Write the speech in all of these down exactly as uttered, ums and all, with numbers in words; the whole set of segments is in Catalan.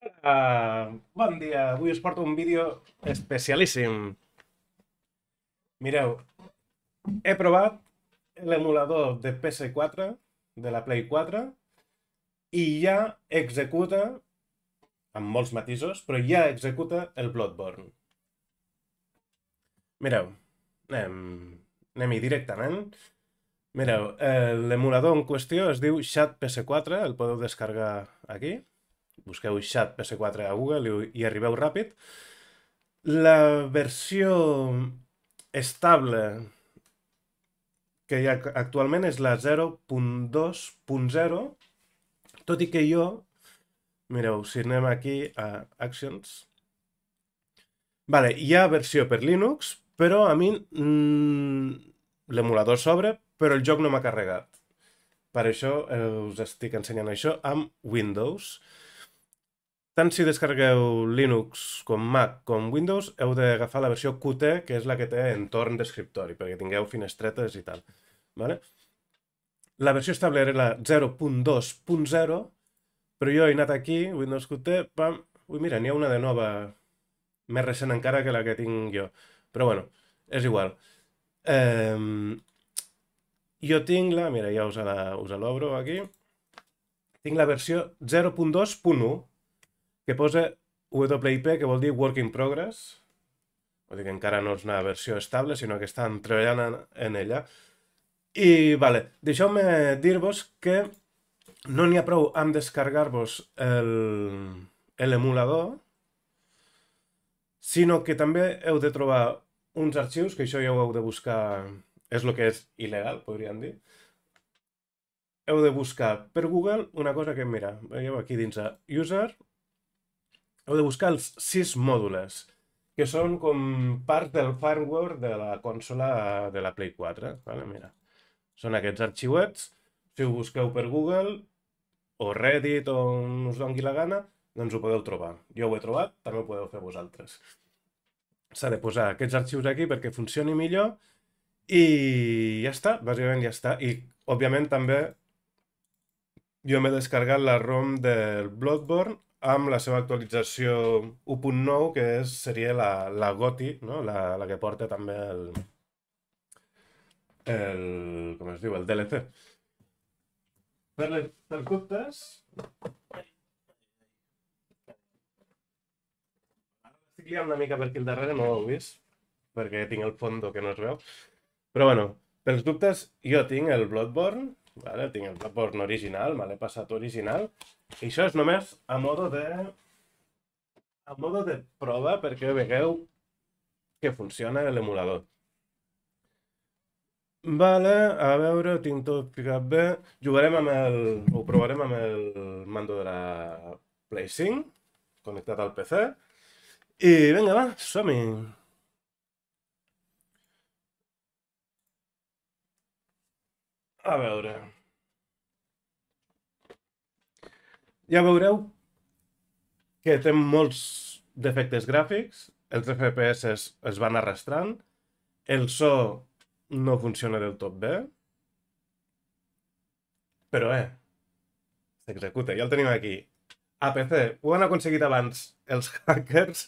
Uh, bon dia, avui us porto un vídeo especialíssim. Mireu, he provat l'emulador de P S quatre, de la Play quatre, i ja executa, amb molts matisos, però ja executa el Bloodborne. Mireu, anem, anem-hi directament. Mireu, eh, l'emulador en qüestió es diu Xat P S quatre, el podeu descarregar aquí. Busqueu Xat P S quatre a Google i, i arribeu ràpid. La versió estable que hi ha actualment és la zero punt dos punt zero, tot i que jo, mireu, si anem aquí a Actions, vale, hi ha versió per Linux, però a mi mm, l'emulador s'obre, però el joc no m'ha carregat. Per això eh, us estic ensenyant això amb Windows. Tant si descarregueu Linux com Mac com Windows, heu d'agafar la versió Qt, que és la que té entorn d'escriptori, perquè tingueu finestretes i tal. Vale? La versió estable era la zero punt dos punt zero, però jo he anat aquí, Windows Qt, pam, ui, mira, n'hi ha una de nova, més recent encara que la que tinc jo. Però bueno, és igual. Eh, jo tinc la, mira, ja us la, us l'obro aquí, tinc la versió zero punt dos punt u, que posa W I P, que vol dir Work in Progress. Vol dir que encara no és una versió estable, sinó que estan treballant en, en ella. I, vale, deixeu-me dir-vos que no n'hi ha prou amb descarregar-vos l'emulador, sinó que també heu de trobar uns arxius, que això ja ho heu de buscar, és el que és il·legal, podríem dir. Heu de buscar per Google una cosa que, mira, veieu aquí dins a User, heu de buscar els sis mòdules, que són com part del firmware de la consola de la Play quatre. Vale? Mira. Són aquests arxiuets. Si ho busqueu per Google o Reddit o on us doni la gana, doncs ho podeu trobar. Jo ho he trobat, també ho podeu fer vosaltres. S'ha de posar aquests arxius aquí perquè funcioni millor i ja està, bàsicament ja està. I, òbviament, també jo m'he descarregat la ROM del Bloodborne amb la seva actualització u punt nou, que és, seria la, la GOTY, no? la, la que porta també el, el, com es diu, el D L C. Per les pels dubtes, estic liant una mica per aquí al darrere, no ho heu vist, perquè tinc el fondo que no es veu. Però bueno, pels dubtes, jo tinc el Bloodborne, vale? Tinc el Bloodborne original, me l'he passat original, i això és només a modo de... a modo de prova, perquè vegueu que funciona l'emulador. Vale, a veure, tinc tot ficat bé. Jugarem amb el... ho provarem amb el mando de la Play cinc, connectat al P C. I vinga, va, som-hi. A veure... Ja veureu que té molts defectes gràfics, els F P S es van arrastrant, el so no funciona del tot bé, però eh, s'executa, ja el tenim aquí. A P C, ho han aconseguit abans els hackers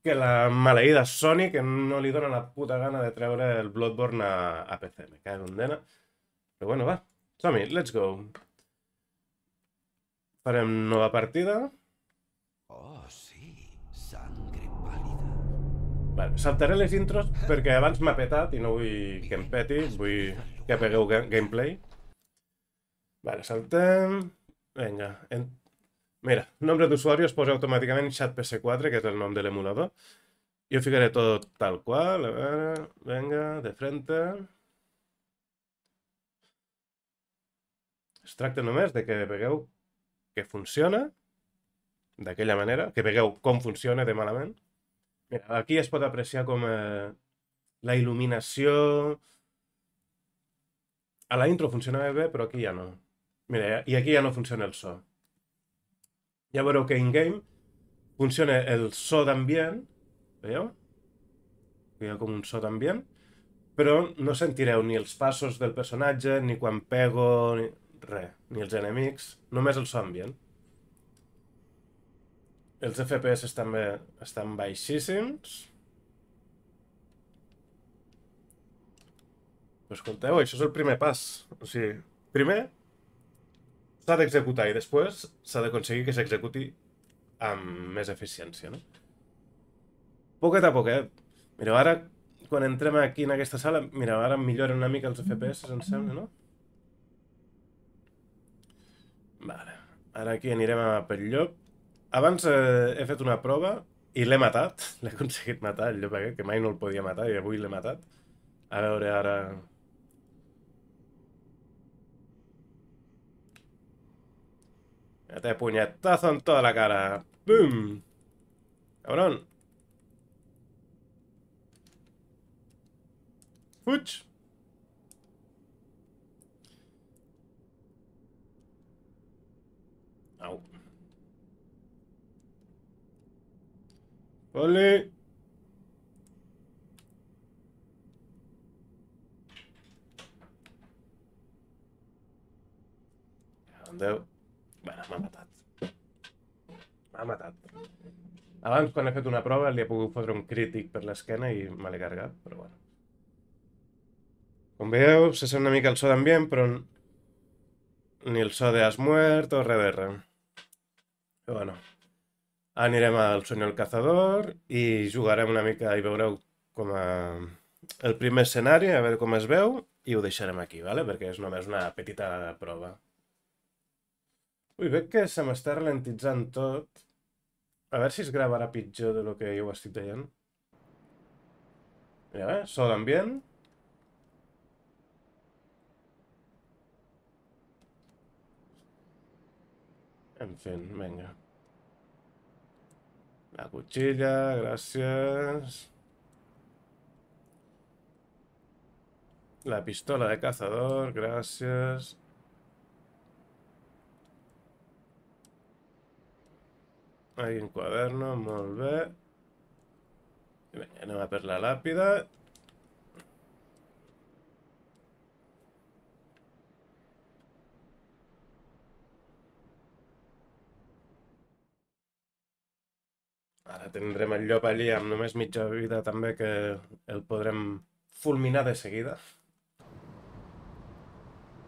que la maleïda Sony, que no li dona la puta gana de treure el Bloodborne a, a P C. Me cago en dena. Però bueno, va, som-hi, let's go. Farem nova partida. Oh, sí, sangre pálida. Vale, saltaré les intros perquè abans m'ha petat i no vull que em peti, vull que pegueu ga gameplay. Vale, saltem... Vinga. En... Mira, nombre d'usuari es posa automàticament Xat P S quatre, que és el nom de l'emulador. Jo ficaré tot tal qual, a veure... Vinga, de frente... Es tracta només de que vegueu que funciona d'aquella manera, que vegueu com funciona de malament. Mira, aquí es pot apreciar com eh, la il·luminació... A la intro funcionava bé, però aquí ja no. Mira, i aquí ja no funciona el so. Ja veureu que in-game funciona el so d'ambient, veieu? Hi ha com un so d'ambient, però no sentireu ni els passos del personatge, ni quan pego, ni res, ni els enemics, només el so ambient. Els F P S també estan baixíssims. Però escolteu, això és el primer pas. O sigui, primer s'ha d'executar i després s'ha d'aconseguir que s'executi amb més eficiència, no? Poquet a poquet. Mireu, ara, quan entrem aquí en aquesta sala, mireu, ara milloren una mica els F P S, em sembla, no? Vale. Ara aquí anirem a pel llop. Abans eh, he fet una prova i l'he matat. L'he aconseguit matar, el llop aquest, que mai no el podia matar i avui l'he matat. A veure, ara... Te puñetazo en toda la cara. ¡Bum! ¡Cabrón! ¡Fuch! Au. ¡Ole! Andeu. Bueno, m'ha matat. M'ha matat. Abans, quan he fet una prova, li he pogut fotre un crític per l'esquena i me l'he carregat, però bueno. Com veieu, se sent una mica el so d'ambient, però ni el so de has muert o res de res. Però bueno. Anirem al Sueño del Cazador i jugarem una mica i veureu com a... el primer escenari, a veure com es veu, i ho deixarem aquí, ¿vale? Perquè és només una petita prova. Ui, veig que se m'està ralentitzant tot. A veure si es gravarà pitjor de lo que jo ho estic veient. Mira, eh? So d'ambient. En fin, venga. La cuchilla, gràcies. La pistola de cazador, gràcies. Ahí un quaderno, molt bé. I vinga, anem a per la làpida. Ara tindrem el llop allí amb només mitja vida també, que el podrem fulminar de seguida.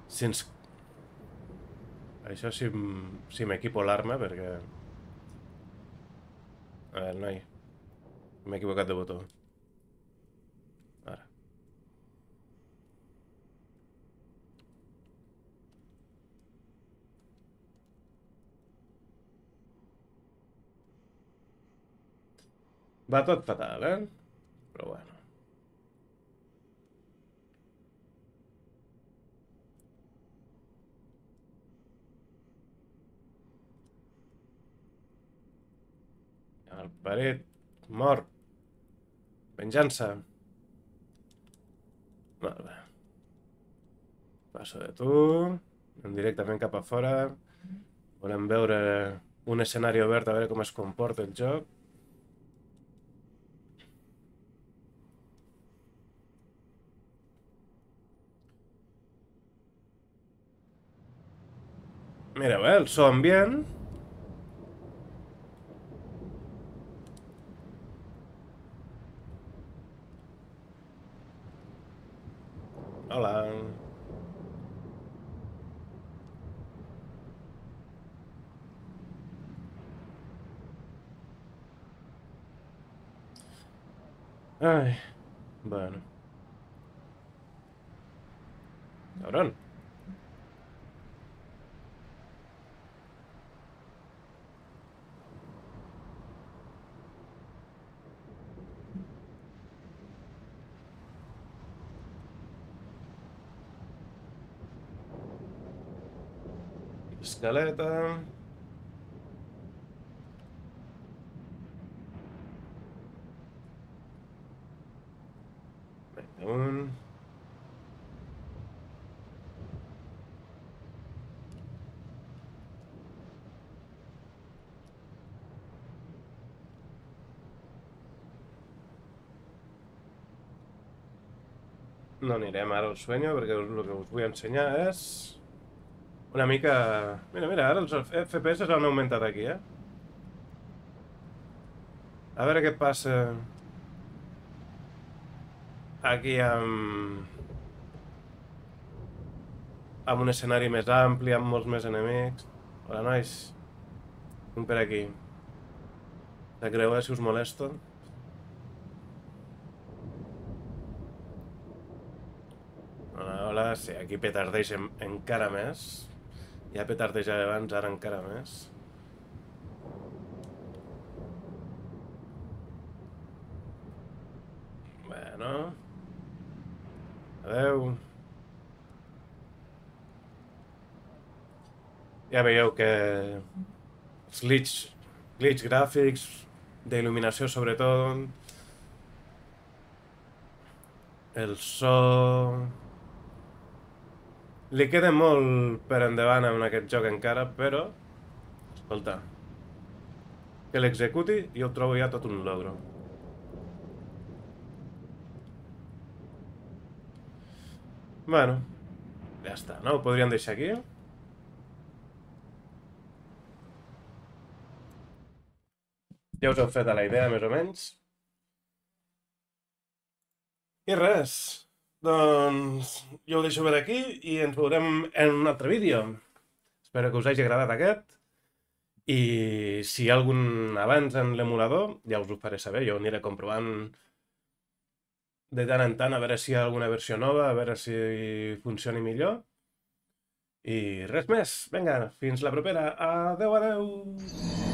Si ens... Això si, si m'equipo l'arma, perquè... A veure, noi. M'he equivocat de botó. Ara. Va tot fatal, eh? Però bueno. El paret. Mort. Venjança. Molt bé. Passo de tu. Anem directament cap a fora. Volem veure un escenari obert, a veure com es comporta el joc. Mireu, eh? El so ambient. Hola. Ai, bueno. Cabrón. Escaleta. Vinga, un. No anirem ara al Sueño, perquè el que us vull ensenyar és una mica... Mira, mira, ara els F P S han augmentat aquí, eh? A veure què passa aquí amb... amb un escenari més ampli, amb molts més enemics. Hola, nois. Vinc per aquí. De creuer, si us molesto. Hola, hola. Sí, aquí petardeix en, encara més. Ja petardejava abans, ara encara més. Bueno. Adeu. Ja veieu que els glitch, glitch gràfics, d'il·luminació sobretot, el so... Li queda molt per endavant en aquest joc encara, però... Escolta... Que l'executi jo ho trobo ja tot un logro. Bueno, ja està, no? Ho podríem deixar aquí. Ja us heu fet a la idea, més o menys. I res, doncs jo ho deixo per aquí i ens veurem en un altre vídeo. Espero que us hagi agradat aquest. I si hi ha algun avanç en l'emulador, ja us ho faré saber. Jo aniré comprovant de tant en tant a veure si hi ha alguna versió nova, a veure si funcioni millor. I res més. Vinga, fins la propera. Adeu, adeu!